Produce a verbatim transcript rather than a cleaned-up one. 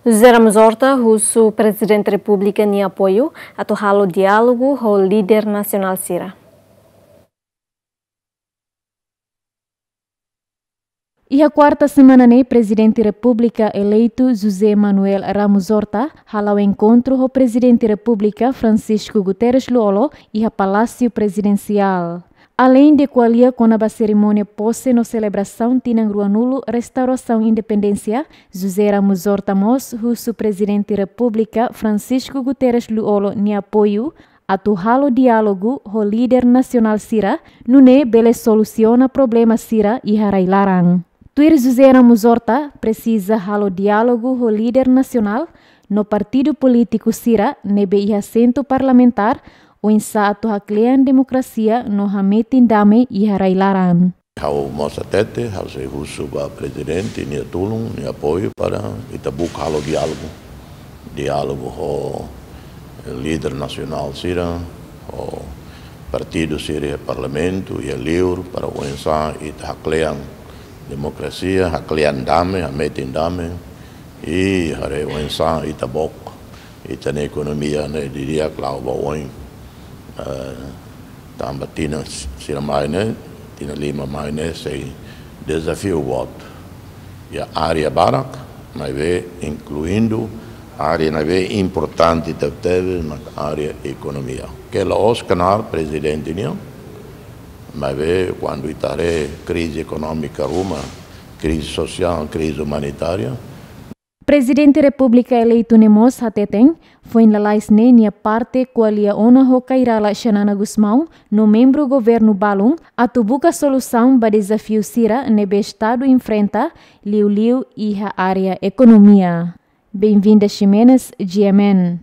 José Ramos Horta husu Prezidente Repúblika nia apoiu atu halo diálogu ho líder nasionál sira. Iha kuarta semana ne'e, Prezidente Repúblika eleitu José Manuel Ramos Horta hala'o enkontru ho Prezidente Repúblika Francisco Guterres Lú-Olo iha Palásiu Prezidensiál. Aleinde ko'alia kona-ba serimónia pose no selebrasaun tinan ruanulu restaurasaun independénsia, José Ramos Horta mós husu Prezidente Repúblika Francisco Guterres Lú-Olo nia apoiu atu halo diálogu ho líder nasionál sira, nune'e bele solusiona problema sira iha rai-laran. Tuir José Ramos Horta, presiza halo diálogu ho líder nasionál no partidu polítiku sira ne'ebé iha asentu parlamentár, oinsá atu haklean demokrasia no hametin dame iha rai-laran. Ha'u mós hatete, ha'u sei husu ba Prezidente nia tulun, nia apoiu para ita buka halo diálogu. Diálogu ho líder nasionál sira, ho partidu sira iha Parlamentu, iha liur, para oinsá ita haklean demokrasia, haklean dame, hametin dame, i haree oinsá ita book ita-nia ekonomia ne'e di'ak la'o ba oin. Eh, tanba tinan sira mai ne'e, tinan lima mai ne'e, sei dezafiu boot. Iha área barak, maibé inkluindu área ne'ebé importante tebetebes, mak área ekonomia. Ke la'ós knaar Prezidente nian, maibé kuandu ita haree krize ekonómika ruma, krize sosiál, krize umanitária, Prezidente Repúblika eleitu ne'e mós hateten, foin lalais ne'e nia parte ko'alia ona ho Kay Rala Xanana Gusmão no membru governu balun atu buka solusaun ba dezafiu sira ne'ebé Estadu enfrenta, liuliu iha área ekonomia. Benvinda Ximenes, G M N.